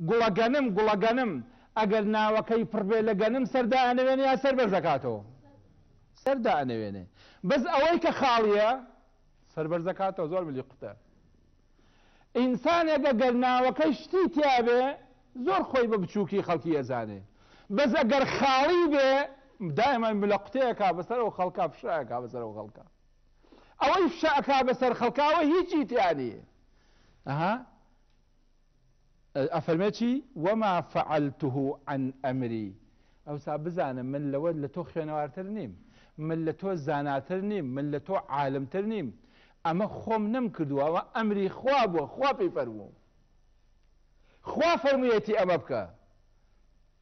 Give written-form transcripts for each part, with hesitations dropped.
گوڵە گەنم گوڵە گەنم ئەگەر ناوەکەی پڕ بێ لە گەنم سەر دائەنەوێنێ یا سەر بەرز ئەکاتەوە؟ سەر دائەنەوێنێ. بەس ئەوەی کە خاڵیە سەر بەرز ئەکاتەوە زۆر ملی قوتە. ئینسانێک ئەگەر ناوەکەی شتی تیابێ زۆر خۆی بە بچووکی خەڵکی ئەزانێ بەس ئەگەر خاڵی بێ دائما ملە قوتێ ئەکا بەسەر ئەو خەڵکا فشە ئەکا بەسەر ئەو خەڵکا. ئەوەی فشە ئەکا بەسەر خەڵکاوە هیچی تیا نییە. ئەها ئەفەرمێ چی؟ وما فعلته عن امری ئەوسا بزانە من لەوە لە تۆ خوێنەوارتر نیم، من لە تۆ زاناتر نیم، من لە تۆ عالمتر نیم، ئەمە خۆم نەمکردووە، ئەوە ئەمری خوا بووە، خوا پێی فەرمووم، خوا فەرموویەتی ئەمە بکە.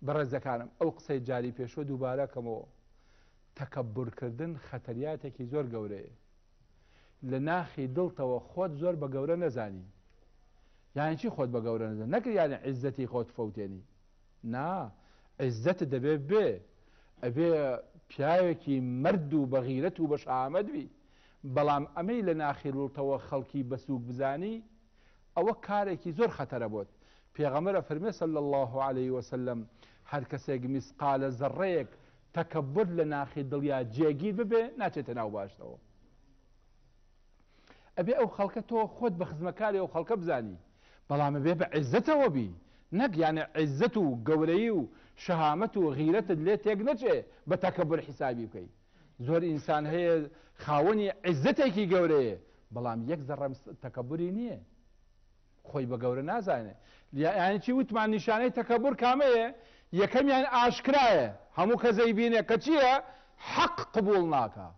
بەڕێزەکانم ئەو قسەی جاری پێشووە دووبارە کەمەوە، تەکەبورکردن خەتەریاتێکی زۆر گەورەیە. لە ناخی دڵتەوە خۆت زۆر بە گەورە نەزانی. یانی چی خۆت بە گەورە نەزانی؟ نەک یانی عیزەتی خۆت فەوتێنی. نا، عیزەتت دەبێ بێ. ئەبێ پیاوێکی مەرد و بە غیرەت و بە شەهامەت بی. بەڵام ئەمەی لە ناخی دڵتەوە خەڵکی بە سووک بزانی، ئەوە کارێکی زۆر خەتەرە بۆت. پێغەمبەر ئەفەرموێ صلی اللە علیە وسلم، هەر کەسێک میسقالە زەڕەیەک تەکەبور لە ناخی دڵیا جێگیر ببێ ناچێتە ناو باشتەوە. ئەبێ ئەو خەڵکە تۆ خۆت بە خزمەکاری ئەو خەڵکە بزانی، بەڵام ئەبێ بە عیزەتەوە بی، نەک یانێ عیزەت و گەورەیی و شەهامەت و غیرەتت لێ تێک نەچێ بە تەکەبور حیسابی بکەی. زۆر ئینسان هەیە خاوەنی عیزەتێکی گەورەیە بەڵام یەک زەڕە تەکەبوری نییە. خۆی بە گەورە نازانێ. یانی چی وتمان نیشانەی تەکەبور کامەیە؟ یەکەمیان ئاشکرایە هەموو کەس ئەیبینێ کە چییە؟ حەق قبوڵ ناکا.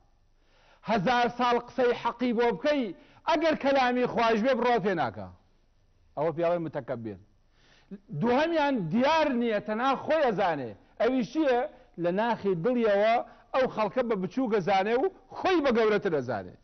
هەزار ساڵ قسەی حەقی بۆ بکەی ئەگەر کەلامی خوایش بێ بڕوا پێ ناکا. ئەوە پێڵێن متەکەبیر. دووهەمیان دیار نییە تەنها خۆی ئەزانێ ئەویش چییە؟ لە ناخی دڵیەوە ئەو خەڵکە بە بچووک ئەزانێ و خۆی بە گەورەتر ئەزانێ.